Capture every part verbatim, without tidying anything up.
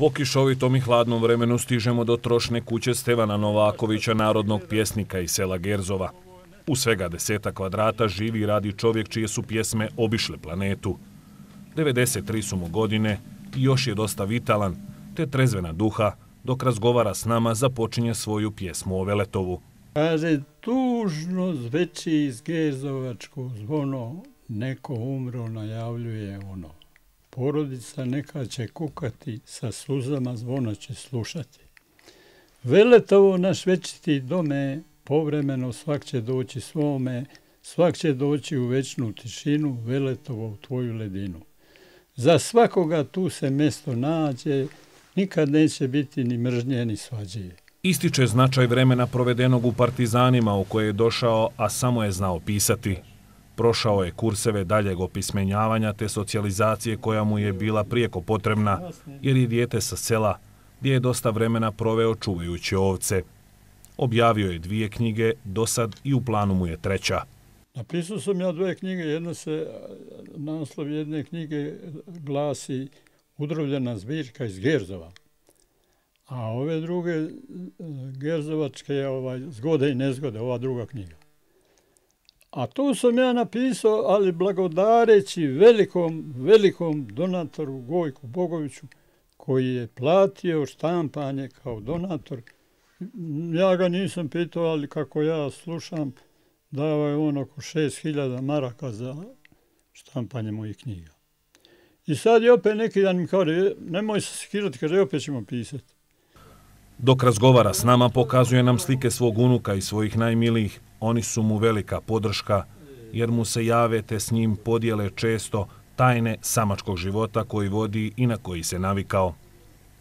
Po kišovitom i hladnom vremenu stižemo do trošne kuće Stevana Novakovića, narodnog pjesnika iz sela Gerzova. U svega deseta kvadrata živi i radi čovjek čije su pjesme obišle planetu. devedeset tri su mu godine i još je dosta vitalan, te trezvena duha, dok razgovara s nama započinje svoju pjesmu o Veletovu. Kaže, tužno zveči iz Gerzovačko zvono, neko umro najavljuje ono. Porodica neka će kukati, sa suzama zvona će slušati. Veletovo naš večiti dome, povremeno svak će doći svome, svak će doći u večnu tišinu, Veletovo u tvoju ledinu. Za svakoga tu se mjesto nađe, nikad neće biti ni mržnje ni svađe. Ističe značaj vremena provedenog u partizanima u koje je došao, a samo je znao pisati. Prošao je kurseve daljeg opismenjavanja te socijalizacije koja mu je bila prijeko potrebna, jer je dijete sa sela, gdje je dosta vremena proveo čuvajući ovce. Objavio je dvije knjige, dosad i u planu mu je treća. Napisao sam ja dvije knjige, jedna se, naslov jedne knjige glasi Udrovljena zbirka iz Gerzova. A ove druge gerzovačke, ovaj, zgode i nezgode, ova druga knjiga. A to sam ja napisao, ali blagodareći velikom, velikom donatoru Gojku Bogoviću, koji je platio štampanje kao donator. Ja ga nisam pitao, ali kako ja slušam, dao je on oko šest hiljada maraka za štampanje mojih knjiga. I sad je opet neki dan mi kaže, nemoj se skirati, kaže, opet ćemo pisati. Dok razgovara s nama, pokazuje nam slike svog unuka i svojih najmilijih. Oni su mu velika podrška, jer mu se jave te s njim podijele često tajne samačkog života koji vodi i na koji se navikao.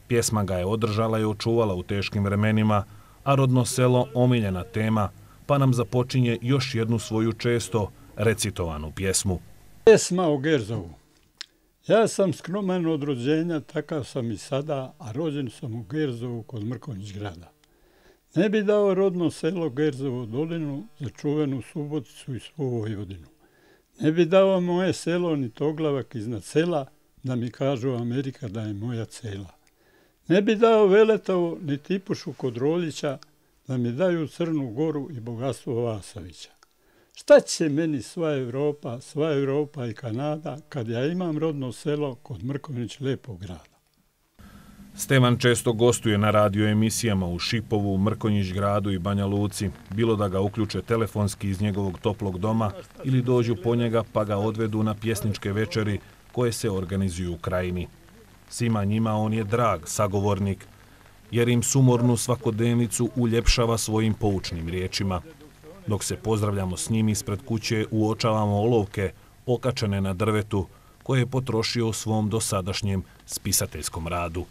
Pjesma ga je održala i očuvala u teškim vremenima, a rodno selo omiljena tema, pa nam započinje još jednu svoju često recitovanu pjesmu. Pjesma o Gerzovu. Ja sam skroman od rođenja, takav sam i sada, a rođen sam u Gerzovu kod Mrkonjić grada. Ne bi dao rodno selo Gerzovu dolinu za čuvenu Suboticu i svu Vojvodinu. Ne bi dao moje selo ni Toglavak iznad sela, da mi kažu Amerika da je moja cela. Ne bi dao Veletovo ni Tipušu kod Roljića, da mi daju Crnu Goru i bogatstvo Vasavića. Šta će meni sva Evropa, sva Evropa i Kanada, kad ja imam rodno selo kod Mrkonjić lepog grada? Stevan često gostuje na radio emisijama u Šipovu, Mrkonjić gradu i Banja Luci, bilo da ga uključe telefonski iz njegovog toplog doma ili dođu po njega pa ga odvedu na pjesničke večeri koje se organizuju u krajini. Svima njima on je drag sagovornik, jer im sumornu svakodnevnicu uljepšava svojim poučnim riječima. Dok se pozdravljamo s njim ispred kuće, uočavamo olovke okačene na drvetu koje je potrošio u svom dosadašnjem spisateljskom radu.